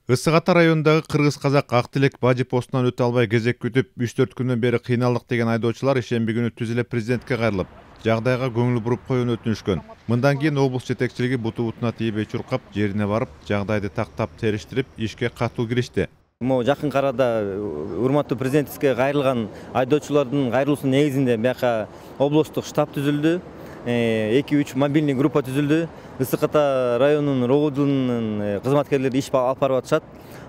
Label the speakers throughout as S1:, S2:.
S1: Ысык Ата районундагы кыргыз-казак ак тилек бажы постунан өтө албай кезек күтүп 3-4 күндөн бери кыйналдык деген айдоочулар ишемби күнү түз эле президентке кайрылып, жагдайга көңүл буруп коюуну өтүнүшкөн. Мындан кийин облус жетекчилиги буту бутуна тийбей чуркап, жерине барып, жагдайды тактап териштирип, ишке катуу киришти.
S2: Могу жакын арада урматтуу президентибизге кайрылган айдоочулардын кайрылуусунун негизинде бияка облустук штаб түзүлдү. 2-3 мобильный группа түзүлдү. Ысык Ата районунун РОГУ-дун кызматкерлери иш алып барып атышат.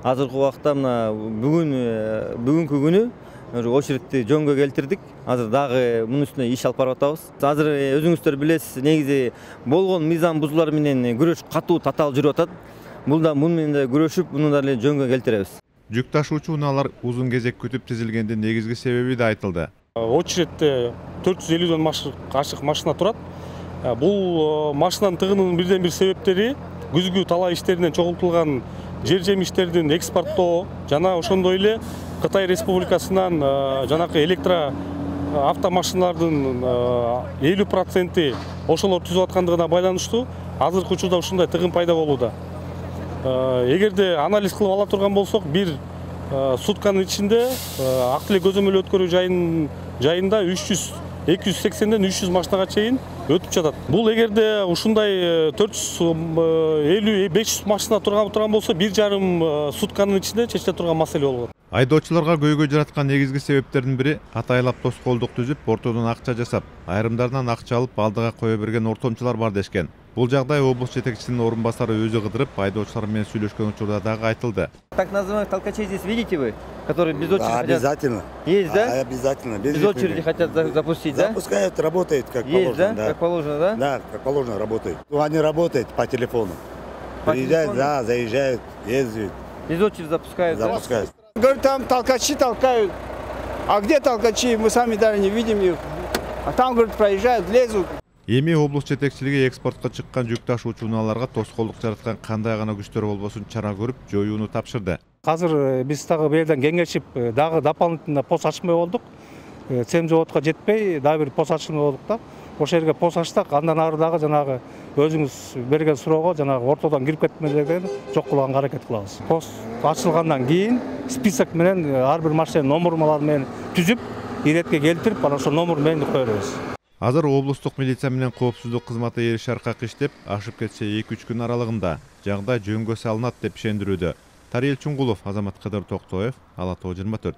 S2: Азыркы убакта мына бүгүнкү күнү очередти жөнгө келтирдик. Азыр дагы мунун үстүнө иш алып барып атабыз. Азыр өзүңүздөр билесиз, негизи болгон мыйзам бузуулар менен күрөш катуу татаал жүрүп атат. Муну менен да күрөшүп, муну да жөнгө келтиребиз.
S1: Жүк ташуучу унаалар узун кезек күтүп тизилгендин негизги себеби да айтылды.
S3: Очередте 450ден ашык машина турат. Бул машинанын тыгынынын бирден бир себептери күзгү талаа иштеринен чогултулган жер жемиштердин экспорттоо жана ошондой эле Кытай Республикасынан жанакы электро автомашиналардын 50% ошолор түзүп аткандыгына байланыштуу азыркы учурда ушундай тыгын пайда болууда. Эгерде анализ кылып ала турган болсок, бир сутканын ичинде ак тилек көзөмөл өткөрүү жайында 280ден 300 машинага чейин өтүп жатат. Бул эгерде ушундай 450-500 машина турган болсо, 1,5 сутканын ичинде чечиле турган маселе болот.
S1: Айдоочуларга көйгөй жараткан негизги себептердин бири атайлап тоскоолдук түзүп, ортодон акча жасап, айрымдарынан акча алып алдыга кое берген ортомчулар бар дешкен. Бул жагдай облус жетекчисинин орун басары өзү кыдырып, айдоочулар менен сүйлөшкөн учурда дагы айтылды.
S2: Так называемых толкачей здесь видите вы, которые без очереди хотят?
S4: Обязательно.
S2: Есть, да?
S4: Обязательно.
S2: Без очереди хотят запустить, да?
S4: Запускают, работает как
S2: есть,
S4: положено.
S2: Да? Как положено, да?
S4: Да, как положено работает. Они работают по телефону. Приезжают, да, заезжают, ездят.
S2: Без очереди запускают,
S4: Запускают.
S5: Говорят, там толкачи толкают. А где толкачи? Мы сами даже не видим их. А там, говорят, проезжают, лезут.
S1: Эми облус жетекчилиги экспортко чыккан жүк ташуучу унааларга тоскоолдук жараткан кандай гана күчтөр болбосун чара көрүп, жоюуну тапшырды.
S3: Азыр биз дагы бул кеңешип, дагы дополнительно пост ачмай болдук. Цем заводко жетпей, дагы бир пост ачмай болдук да. Ошол жерге пост ачтык, андан ары дагы жанагы өзүңүз берген суроого жанагы ортодон кирип кетмелерден жок кылганга аракет кылабыз. Пост ачылгандан кийин список менен ар бир машинанын номерлары менен түзүп, иретке келтирип, анан ошол номер менен кое беребиз.
S1: Азыр облустук милиция менен коопсуздук кызматы ээриш аркак иштеп, ашып кетсе 2-3 күн аралыгында жагдай жөнгө салынат деп ишендирүүдө. Тариел Чуңгулов, Азамат Кыдыр Токтоев, Ала Тоо 24.